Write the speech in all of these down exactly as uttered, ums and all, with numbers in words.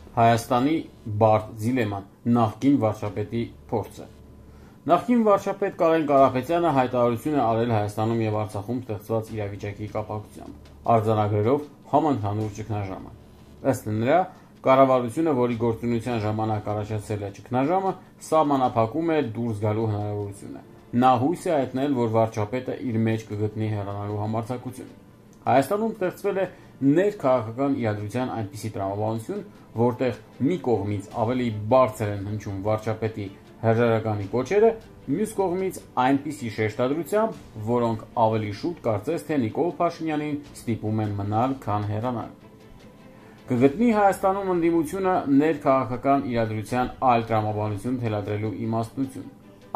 Հայաստանի բարդ դիլեման նախկին վարչապետի փորձը։ Նախկին վարչապետ Կարեն Կարապետյանը հայտարարություն է արել Հայաստանում եւ Արցախում ստեղծված իրավիճակի կապակցությամբ, արձանագրելով համընդհանուր ճգնաժամը։ Ըստ նրա, կառավարությունը, որի գործունեության ժամանակ առաջացել է ճգնաժամը, սահմանափակում է դուրս գալու հնարավորությունը։ Նա հույս է հայտնել, որ վարչապետը իր մեջ կգտնի հեռանալու համարձակություն։ Հայաստանում ստեղծվել է ներքաղաքական իրադրության այնպիսի տրամաբանություն, որտեղ մի կողմից ավելի բարձր են հնչում վարչապետի հրաժարականի կոչերը, մյուս կողմից այնպիսի շեշտադրությամբ, որոնք ավելի շուտ կարծես թե Նիկոլ Փաշինյանին ստիպում են մնալ, քան հեռանալ։ Կգտնի Հայաստանում ընդդիմությունը ներքաղաքական իրադրության այլ տրամաբանություն թելադրելու իմաստություն։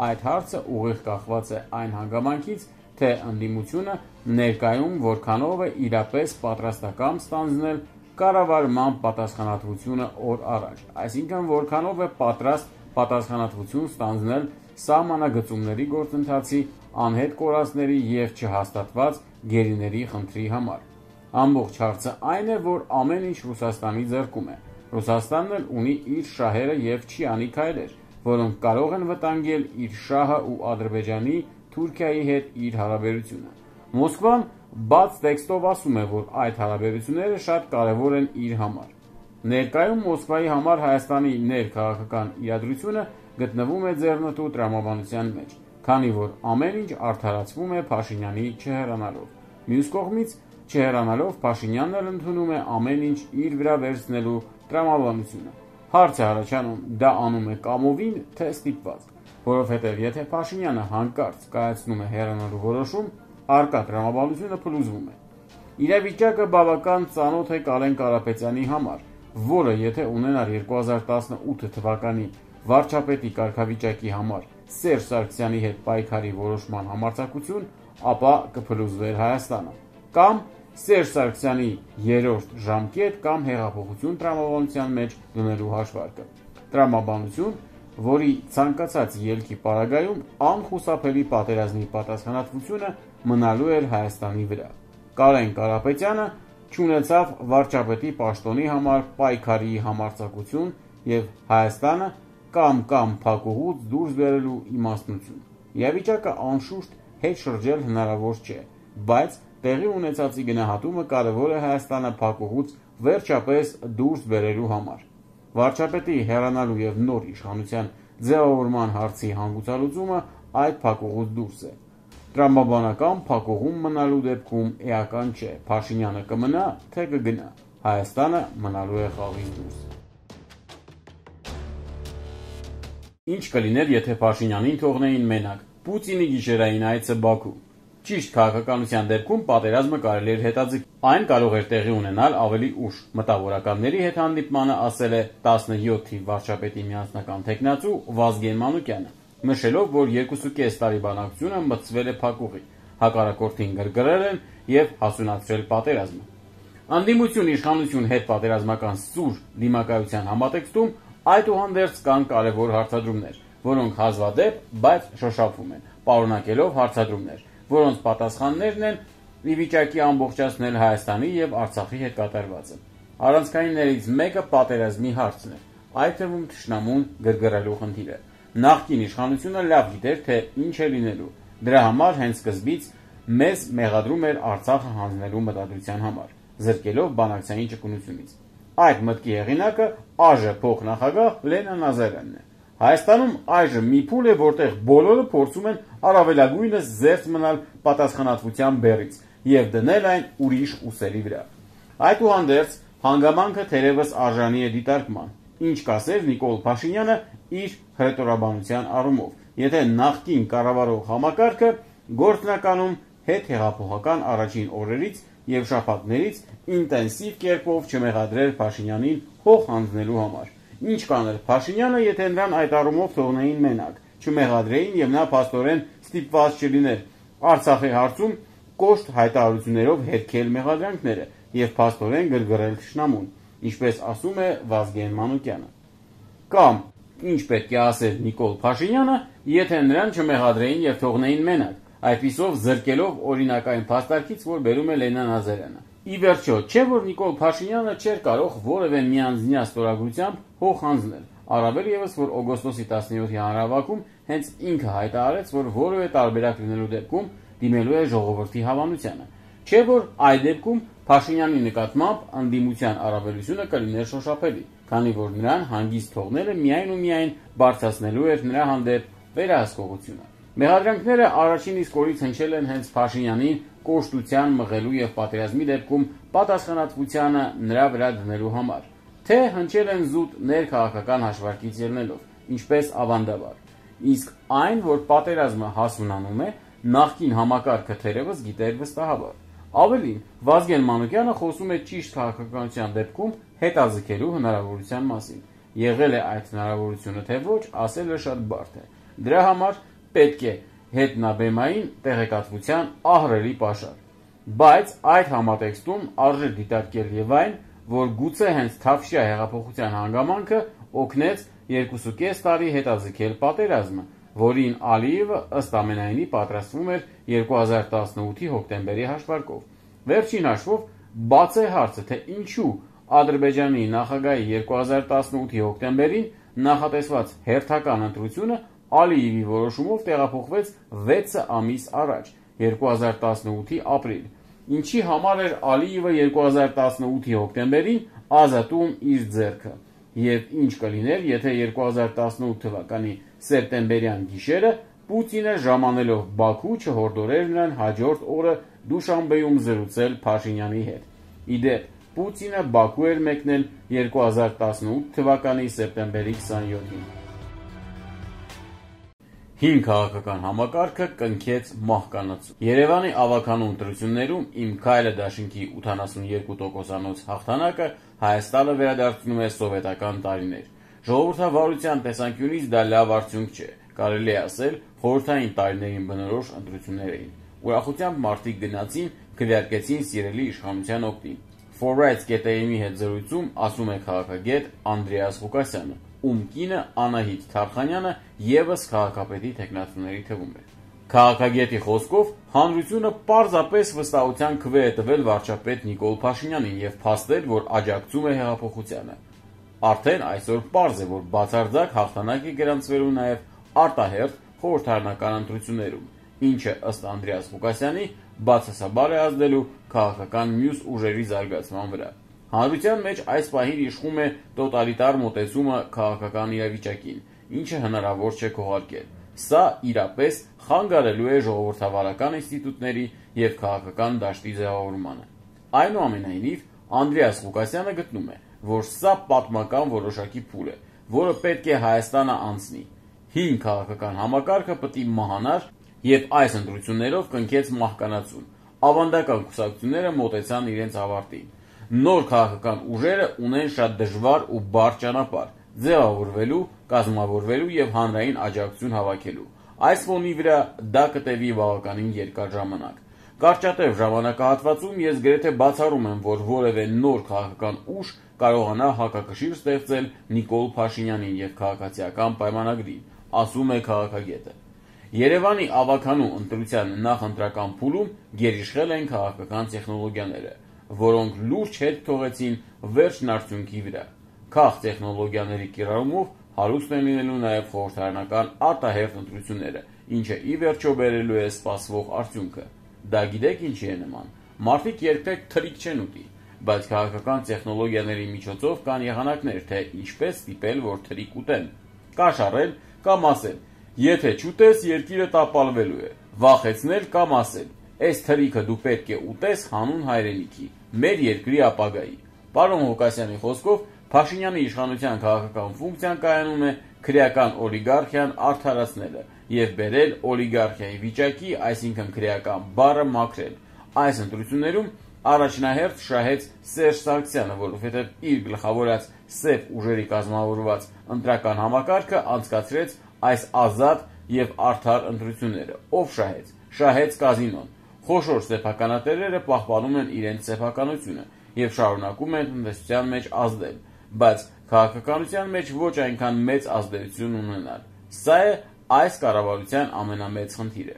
Այդ հարցը ուղիղ կախված է այն հանգամանքից, թե ընդդիմությունը ներկայում որքանով է իրապես պատրաստական ստանձնել կառավարման պատասխանատվությունը օր առաջ, այսինքն որքանով է պատրաստ պատասխանատվություն ստանձնել սահմանագծումների գործընթացի, անհետ կորածների և չհաստատված գերիների խնդրի համար։ Ամբողջ հարցը այն է, որ ամեն ինչ Ռուսաստանի ձեռքում է։ Ռուսաստանն էլ ունի իր շահերը և չի անի քայլեր, որոնք կարող են վտանգել իր շահը ու Ադրբեջանի, Թուրքիայի հետ իր հարաբերությունը։ Մոսկվան բաց տեքստով ասում է, որ այդ հարաբերությունները շատ կարևոր են իր համար։ Ներկայում Մոսկվայի համար Հայաստանի ներքաղաքական իրադրությունը գտնվում է ձեռնտու տրամաբանության մեջ, քանի որ ամեն ինչ արդարացվում է Փաշինյանի չհեռանալով։ Մյուս կողմից, չհեռանալով Փաշինյանն էլ ընդունում է ամեն ինչ իր վրա վերցնելու տրամաբանությունը։ Հարց է առաջանում, դա անում է կամովին, թե ստիպված, որովհետև եթե Փաշինյանը հանկարծ կայացնում է հեռանալու որոշում, առկա տրամաբանությունը փլուզվում է։ Իրավիճակը բավական ծանոթ է Կարեն Կարապետյանի համար, որը եթե ունենար երկու հազար տասնութ թվականի վարչապետի կարգավիճակի համար Սերժ Սարգսյանի հետ պայքարի որոշման համարձակություն, ապա կփլուզվեր Հայաստանը, կամ Սերժ Սարգսյանի երրորդ ժամկետ կամ հեղափոխություն տրամաբանության մեջ դնելու հաշվարկը։ Տրամաբանություն, որի ցանկացած ելքի պարագայում անխուսափելի պատերազմի պատասխանատվությունը մնալու էր Հայաստանի վրա։ Կարեն Կարապետյանը չունեցավ վարչապետի պաշտոնի համար պայքարի համարձակություն և Հայաստանը կամ-կամ փակուղուց դուրս բերելու իմաստնություն։ Իրավիճակը անշուշտ հետ շրջել հնարավոր չէ, բայց տեղի ունեցածի գնահատումը կարևոր է Հայաստանը փակուղուց վերջապես դուրս բերելու համար։ Վարչապետի հեռանալու և նոր իշխանության ձևավորման հարցի հանգուցալուծումը այդ փակուղուց դուրս է։ Տրամաբանական փակուղում մնալու դեպքում էական չէ, Փաշինյանը կմնա, թե կգնա, Հայաստանը մնալու է խաղից դուրս։ Ինչ կլիներ, եթե Փաշինյանին թողնեին մենակ։ Պուտինի գիշերային այցը Բաքու։ Ճիշտ քաղաքականության դեպքում պատերազմը կարելի էր հետաձգել։ Այն կարող էր տեղի ունենալ ավելի ուշ։ Մտավորականների հետ հանդիպմանը ասել է տասնյոթ թիվ վարչապետի միասնական թեկնածու Վազգեն Մանուկյանը, նշելով, որ երկուսուկես տարի բանակցությունը մտցվել է փակուղի, հակառակորդին գրգռել են և հասունացրել պատերազմը։ Ընդդիմություն իշխանություն հետ պատերազմական սուր դիմակայության համատեքստում այդուհանդերձ կան կարևոր հարցադրումներ, որոնք հազվադեպ, բայց շոշափվում են, պարունակելով հարցադրումներ, որոնց պատասխաններն են ի վիճակի ամբողջացնել Հայաստանի և Արցախի հետ կատարվածը։ Առանցքայիններից մեկը պատերազմի հարցն է, այդ թվում թշնամուն գրգռելու խնդիրը։ Նախկին իշխանությունը լավ գիտեր, թե ինչ է լինելու։ Դրա համար հենց սկզբից մեզ մեղադրում էր Արցախը հանձնելու մտադրության համար, զրկելով բանակցային ճկունությունից։ Այդ մտքի հեղինակը ԱԺ փոխնախագահ Լենա Նազարյանն է։ Հայաստանում այժմ մի փուլ է, որտեղ բոլորը փորձում են առավելագույնս զերծ մնալ պատասխանատվության բեռից և դնել այն ուրիշ ուսերի վրա։ Այդուհանդերձ հանգամանքը թերևս արժանի է դիտարկման, ինչ կասեր Նիկոլ Փաշինյանը իր հռետորաբանության առումով, եթե նախկին կառավարող համակարգը գործնականում հետհեղափոխական առաջին օրերից և շաբաթներից ինտենսիվ կերպով չմեղադրեր Փաշինյանին հող հանձնելու համար։ Ինչ կաներ Փաշինյանը, եթե նրան այդ առումով թողնեին մենակ, չմեղադրեին և նա փաստորեն ստիպված չլիներ Արցախի հարցում կոշտ հայտարարություններով հերքել մեղադրանքները և փաստորեն գրգռել թշնամուն, ինչպես ասում է Վազգեն Մանուկյանը։ Կամ ինչ պետք է ասեր Նիկոլ Փաշինյանը, եթե նրան չմեղադրեին և թողնեին մենակ, այդպիսով զրկելով օրինակային փաստարկից, որ բերում է Լենա Նազարյանը։ Ի վերջո, չէ որ Նիկոլ Փաշինյանը չէր կարող որևէ միանձնյա ստորագրությամբ հող հանձնել, առավել ևս որ օգոստոսի տասնյոթի հանրահավաքում հենց ինքը հայտարարեց, որ որևէ տարբերակ լինելու դեպքում դիմելու է ժողովրդի հավանությանը, չէ որ այդ դեպքում Փաշինյանի նկատմամբ ընդդիմության առավելությունը կլիներ շոշափելի, քանի որ նրան հանգիստ թողնելը միայն ու միայն բարձրացնելու էր նրա հանդեպ վերահսկողությունը։ Մեղադրանքները առաջին իսկ օրից հնչել են հենց Փաշինյանին կոշտության մղելու եւ պատերազմի դեպքում պատասխանատվությանը նրա վրա դնելու համար, թե հնչել են զուտ ներքաղաքական հաշվարկից ելնելով, ինչպես ավանդաբար, իսկ այն, որ պատերազմը հասունանում է, նախկին համակարգը թերևս գիտեր վստահաբար։ Ավելին, Վազգեն Մանուկյանը խոսում է ճիշտ քաղաքականության դեպքում հետաձգելու հնարավորության մասին։ Եղել է այդ հնարավորությունը թե ոչ, ասելը շատ բարդ է։ Դրա համար պետք է հետնաբեմային տեղեկատվության ահռելի պաշար։ Բայց այդ համատեքստում արժե դիտարկել եւ այն, որ գուցե հենց Թավշյա հեղափոխության հանգամանքը օգնեց երկուսուկես տարի հետաձգել պատերազմը, որին Ալիևը ըստ ամենայնի պատրաստվում էր երկու հազար տասնութի հոկտեմբերի հաշվարկով։ Վերջին հաշվով բաց է հարցը, թե ինչու Ադրբեջանի նախագահի երկու հազար տասնութի հոկտեմբերին նախատեսված հերթական ընտրությունը Ալիևի որոշումով տեղափոխվեց վեց ամիս առաջ, երկու հազար տասնութի ապրիլ, ինչի համար էր Ալիևը երկու հազար տասնութի հոկտեմբերին ազատում իր ձեռքը, եւ ինչ կլիներ, եթե երկու հազար տասնութ թվականի սեպտեմբերյան գիշերը Պուտինը ժամանելով Բաքու չհորդորեր նրան հաջորդ օրը Դուշանբեում զրուցել Փաշինյանի հետ։ Իդեպ, Պուտինը Բաքու էր մեկնել երկու հազար տասնութ թվականի սեպտեմբերի քսանյոթին։ Հին քաղաքական համակարգը կնքեց մահկանացու։ Երևանի ավականու ընտրություններում Իմ քայլը դաշինքի ութանասունյոթ տոկոսանոց հաղթանակը Հայաստանը վերադարձնում է սովետական տարիներ։ Ժողովրդավարության տեսանկյունից դա լավ արդյունք չէ, կարելի է ասել խորհրդային տարիներին բնորոշ ընտրություններ էին։ Ուրախությամբ մարդիկ գնացին, քվեարկեցին սիրելի իշխանության օգտին։ Forbes.am-ի հետ զրույցում ասում է քաղաքագետ Անդրեաս Ղուկասյանը, ում կինը Անահիտ Թարխանյանը ևս քաղաքապետի թեկնածուների թվում է։ Քաղաքագետի խոսքով հանրությունը պարզապես վստահության քվե է տվել վարչապետ Նիկոլ Փաշինյանին եւ փաստել, որ աջակցում է հեղափոխությանը։ Արդեն այսօր պարզ է, որ բացարձակ հաղթանակ է գրանցվելու նաեւ արտահերթ խորհրդարանական ընտրություններում, ինչը ըստ Անդրեաս Ղուկասյանի բացասաբար է ազդելու քաղաքական մյուս ուժերի զարգացման վրա։ Հանրության մեջ այս պահին իշխում է տոտալիտար մոտեցումը քաղաքական իրավիճակին, ինչը հնարավոր չէ քողարկել։ Սա իրապես խանգարելու է ժողովրդավարական ինստիտուտների եւ քաղաքական դաշտի ձևավորմանը։ Այնուամենայնիվ, Անդրեաս Ղուկասյանը գտնում է, որ սա պատմական որոշակի փուլ է, որը պետք է Հայաստանը անցնի։ Հին քաղաքական համակարգը պետք է մահանար եւ այս ընտրություններով կնքեց մահկանացուն։ Ավանդական կուսակցությունները մոտեցան իրենց ավարտին։ Նոր քաղաքական ուժերը ունեն շատ դժվար ու բարդ ճանապարհ ձևավորվելու, կազմավորվելու եւ հանրային աջակցություն հավաքելու։ Այս ֆոնի վրա դա կտևի բավականին երկար ժամանակ։ Կարճատև ժամանակահատվածում ես գրեթե բացառում եմ, որ որևէ նոր քաղաքական ուժ կարողանա հակակշիռ ստեղծել Նիկոլ Փաշինյանին եւ քաղաքացիական պայմանագրին, ասում է քաղաքագետը։ Երևանի ավականու ընտրության նախընտրական փուլում գերիշխել են քաղաքական տեխնոլոգիաները, որոնք լուրջ հետ թողեցին վերջն արդյունքի վրա։ Քաղ տեխնոլոգիաների կիրառումով հարուստ են լինելու նաև խորհրդարանական արտահերթ ընտրությունները, ինչը ի վերջո բերելու է սպասվող արդյունքը։ Դա գիտեք ինչի է նման։ Մարդիկ երբեք թրիկ չեն ուտի, բայց քաղաքական տեխնոլոգիաների միջոցով կան եղանակներ, թե ինչպես ստիպել, որ թրիկ ուտեն։ Կաշառել կամ ասել. եթե չուտես, երկիրը տապալվելու է։ Վախեցնել կամ ասել. այս թրիկը դու պետք է ուտես հանուն հայրենիքի, մեր երկրի ապագայի։ Պարոն Ղուկասյանի խոսքով Փաշինյանի իշխանության քաղաքական ֆունկցիան կայանում է քրեական օլիգարխիան արդարացնելը եւ բերել օլիգարխիայի վիճակի, այսինքն քրեական բառը մաքրել։ Այս ընտրություններում առաջնահերթ շահեց Սերժ Սարգսյանը, որովհետեւ իր գլխավորած սև ուժերի կազմավորված ընտրական համակարգը անցկացրեց այս ազատ եւ արդար ընտրությունները։ Ով շահեց։ Շահեց կազինոն։ Խոշոր սեփականատերերը պահպանում են իրենց սեփականությունը եւ շարունակում են տնտեսության մեջ ազդել, բայց քաղաքականության մեջ ոչ այնքան մեծ ազդեցություն ունենալ։ Սա է այս կառավարության ամենամեծ խնդիրը։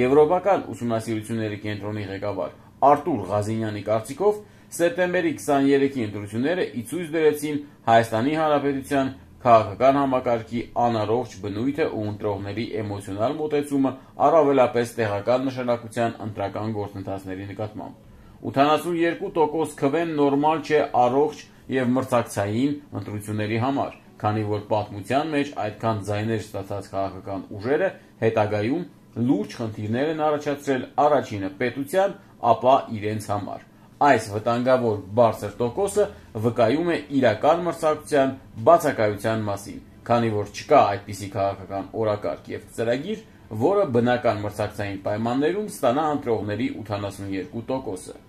Եվրոպական ուսումնասիրությունների կենտրոնի ղեկավար Արտուր Ղազինյանի կարծիքով սեպտեմբերի քսաներեքի ընտրությունները ի ցույց դրեցին Հայաստանի Հանրապետության քաղաքական համակարգի անառողջ բնույթը ու ընտրողների էմոցիոնալ մոտեցումը առավելապես տեղական նշանակության ընտրական գործընթացների նկատմամբ։ ութանասունյոթ տոկոս քվեն նորմալ չէ առողջ եւ մրցակցային ընտրությունների համար, քանի որ պատմության մեջ այդքան ձայներ ստացած քաղաքական ուժերը հետագայում լուրջ խնդիրներ են առաջացրել առաջինը պետության, ապա իրենց համար։ Այս վտանգավոր բարձր տոկոսը վկայում է իրական մրցակցության բացակայության մասին, քանի որ չկա այդպիսի քաղաքական օրակարգ եւ ծրագիր, որը բնական մրցակցային պայմաններում ստանա ընտրողների ութանասունյոթ տոկոսը։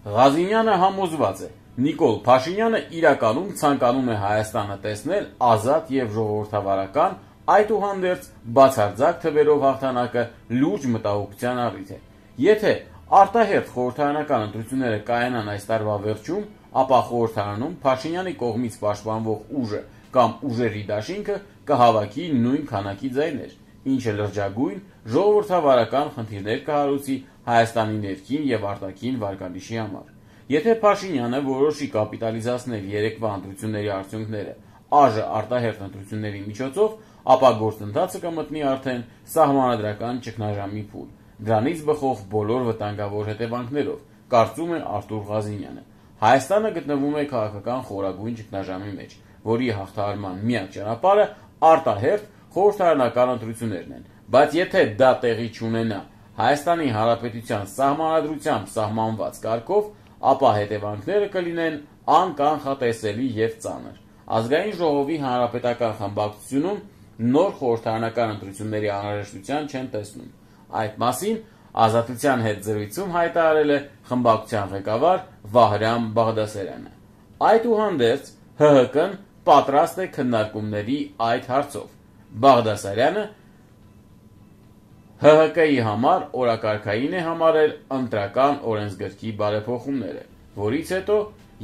Ղազինյանը համոզված է, Նիկոլ Փաշինյանը իրականում ցանկանում է Հայաստանը տեսնել ազատ եւ ժողովրդավարական, այդուհանդերձ բացարձակ թվերով հաղթանակը լուրջ մտահոգության առիթ է։ Եթե արտահերթ խորհրդարանական ընտրությունները կայանան այս տարվա վերջում, ապա խորհրդարանում Փաշինյանի կողմից պաշտպանվող ուժը կամ ուժերի դաշինքը կհավաքի նույն քանակի ձայներ, ինչը լրջագույն ժողովրդավարական խնդիրներ կհարուցի Հայաստանի ներքին եւ արտաքին վարկանիշի համար։ Եթե Փաշինյանը որոշի կապիտալիզացնել երեկվա ընտրությունների արդյունքները ԱԺ արտահերթ ընտրությունների միջոցով, ապա գործընթացը կմտնի արդեն սահմանադրական ճգնաժամի փուլ, դրանից բխող բոլոր վտանգավոր հետևանքներով, կարծում է Արտուր Ղազինյանը։ Հայաստանը գտնվում է քաղաքական խորագույն ճգնաժամի մեջ, որի հաղթահարման միակ ճանապարհը արտահերթ խորհրդարանական ընտրություններն են, բայց եթե դա տեղի չունենա Հայաստանի Հանրապետության սահմանադրությամբ սահմանված կարգով, ապա հետևանքները կլինեն անկանխատեսելի եւ ծանր։ Ազգային ժողովի հանրապետական խմբակցությունում նոր խորհրդարանական ընտրությունների անհրաժեշտության չեն տեսնում։ Այդ մասին Ազատության հետ զրույցում հայտարարել է խմբակցության ղեկավար Վահրամ Բաղդասարյանը։ Այդուհանդերձ ՀՀԿ-ն պատրաստ է քննարկումների այդ հարցով։ Բաղդասարյանը ՀՀԿ-ի համար օրակարգային է համարել ընտրական օրենսգրքի բարեփոխումները, որից հետո,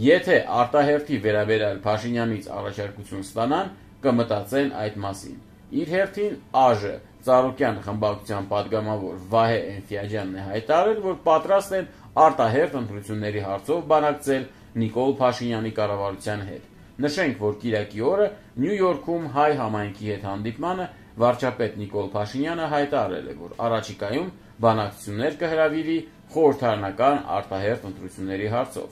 եթե արտահերթի վերաբերյալ Փաշինյանից առաջարկություն ստանան, կմտածեն այդ մասին։ Իր հերթին ԱԺ Ծառուկյան խմբակցության падգամավոր Վահե Էնֆիաջյանն է հայտարարել, որ պատրաստ են արտահերթ ընտրությունների հարցով բանակցել Նիկոլ Փաշինյանի կառավարության հետ։ Նշենք, որ կիրակի օրը Նյու Յորքում հայ համայնքի հետ հանդիպմանը վարչապետ Նիկոլ Փաշինյանը հայտարարել է, որ առաջիկայում բանակցություններ կհրավիրի խորհրդարանական արտահերթ ընտրությունների հարցով։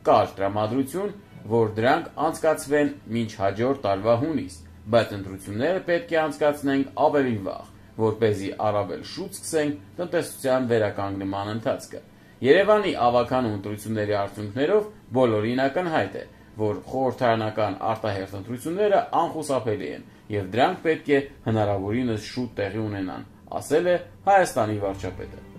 Կար տրամադրություն, որ դրանք անցկացվեն մինչ հաջորդ տարվա հունիս, բայց ընտրությունները պետք է անցկացնենք ավելի վաղ, որպեսզի առավել շուտ սկսենք տնտեսության վերականգնման ընթացքը։ Երևանի ավագանու ընտրությունների արդյունքներով բոլորին ակնհայտ է, որ խորհրդարանական արտահերթ ընտրությունները անխուսափելի են եւ դրանք պետք է հնարավորինս շուտ տեղի ունենան, ասել է Հայաստանի վարչապետը։